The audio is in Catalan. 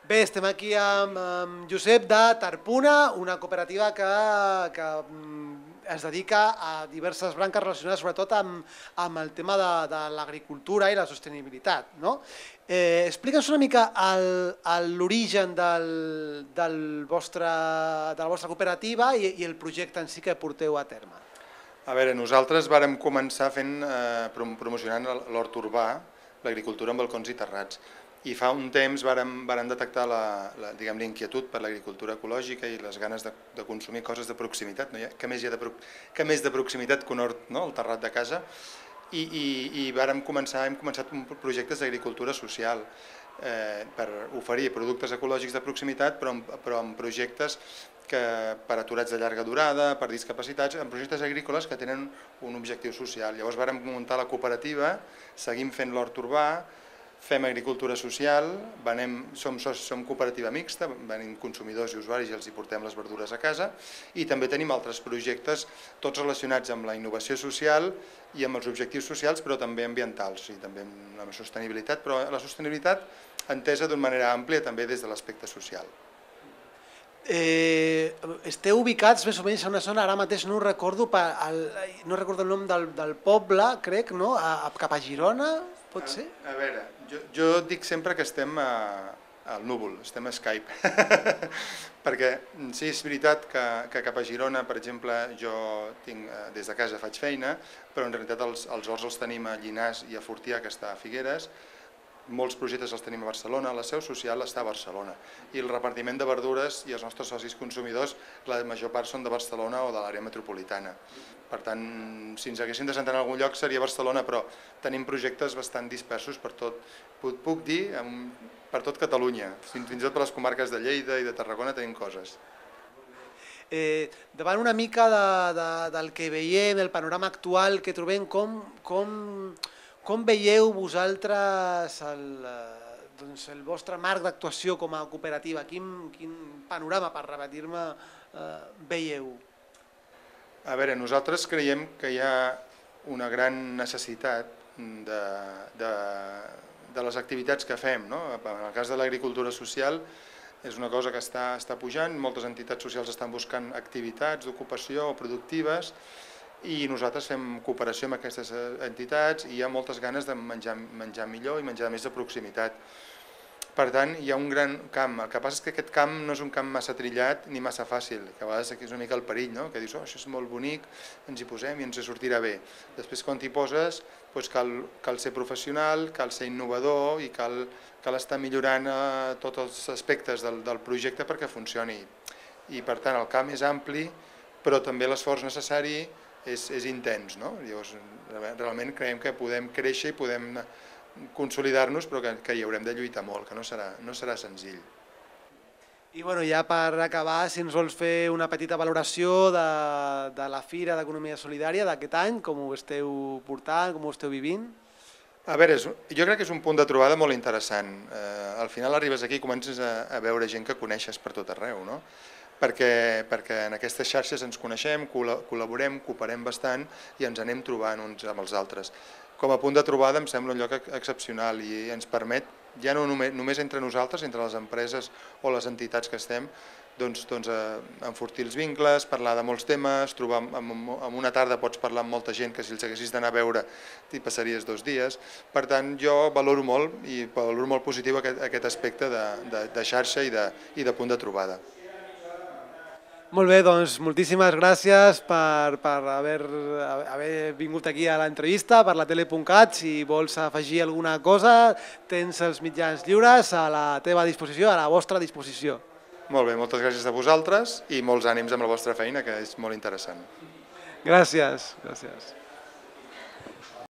Bé, estem aquí amb Josep de Tarpuna, una cooperativa que es dedica a diverses branques relacionades sobretot amb el tema de l'agricultura i la sostenibilitat. Explica'ns una mica l'origen de la vostra cooperativa i el projecte en si que porteu a terme. A veure, nosaltres vàrem començar promocionant l'hort urbà, l'agricultura en balcons i terrats. I fa un temps vàrem detectar l'inquietud per l'agricultura ecològica i les ganes de consumir coses de proximitat. Què més de proximitat que un hort, el terrat de casa? I hem començat projectes d'agricultura social per oferir productes ecològics de proximitat, però amb projectes per aturats de llarga durada, per discapacitats, en projectes agrícoles que tenen un objectiu social. Llavors vàrem muntar la cooperativa, seguim fent l'hort urbà, fem agricultura social, som cooperativa mixta, venim consumidors i usuaris i els hi portem les verdures a casa, i també tenim altres projectes, tots relacionats amb la innovació social i amb els objectius socials, però també ambientals, i també amb la sostenibilitat, però la sostenibilitat entesa d'una manera àmplia també des de l'aspecte social. Esteu ubicats més o menys en una zona, ara mateix no recordo el nom del poble, crec, cap a Girona, pot ser? A veure, jo dic sempre que estem al núvol, estem a Skype, perquè sí, és veritat que cap a Girona, per exemple, jo des de casa faig feina, però en realitat els horts els tenim a Llinars i a Fortià, que està a Figueres. Molts projectes els tenim a Barcelona, la seu social està a Barcelona, i el repartiment de verdures i els nostres socis consumidors, la major part són de Barcelona o de l'àrea metropolitana. Per tant, si ens haguéssim de centrar en algun lloc seria Barcelona, però tenim projectes bastant dispersos per tot, puc dir, per tot Catalunya, fins i tot per les comarques de Lleida i de Tarragona tenim coses. Davant una mica del que veiem, del panorama actual que trobem, com veieu vosaltres el vostre marc d'actuació com a cooperativa? Quin panorama, per repetir-me, veieu? A veure, nosaltres creiem que hi ha una gran necessitat de les activitats que fem. En el cas de l'agricultura social és una cosa que està pujant, moltes entitats socials estan buscant activitats d'ocupació o productives, i nosaltres fem cooperació amb aquestes entitats i hi ha moltes ganes de menjar millor i menjar més de proximitat. Per tant, hi ha un gran camp. El que passa és que aquest camp no és un camp massa trillat ni massa fàcil, que a vegades aquí és una mica el perill, que dius, això és molt bonic, ens hi posem i ens sortirà bé. Després, quan t'hi poses, cal ser professional, cal ser innovador i cal estar millorant tots els aspectes del projecte perquè funcioni. I per tant, el camp és ampli, però també l'esforç necessari és intens. Llavors, realment creiem que podem créixer i podem consolidar-nos, però que hi haurem de lluitar molt, que no serà senzill. I ja per acabar, si ens vols fer una petita valoració de la Fira d'Economia Solidària d'aquest any, com ho esteu portant, com ho esteu vivint? A veure, jo crec que és un punt de trobada molt interessant. Al final arribes aquí i comences a veure gent que coneixes per tot arreu, perquè en aquestes xarxes ens coneixem, col·laborem, cooperem bastant i ens anem trobant uns amb els altres. Com a punt de trobada em sembla un lloc excepcional i ens permet, ja no només entre nosaltres, entre les empreses o les entitats que estem, enfortir els vincles, parlar de molts temes, en una tarda pots parlar amb molta gent que si els haguessis d'anar a veure t'hi passaries 2 dies. Per tant, jo valoro molt positiu aquest aspecte de xarxa i de punt de trobada. Molt bé, doncs moltíssimes gràcies per haver vingut aquí a l'entrevista per la tele.cat. Si vols afegir alguna cosa, tens els mitjans lliures a la teva disposició, a la vostra disposició. Molt bé, moltes gràcies a vosaltres i molts ànims amb la vostra feina, que és molt interessant. Gràcies.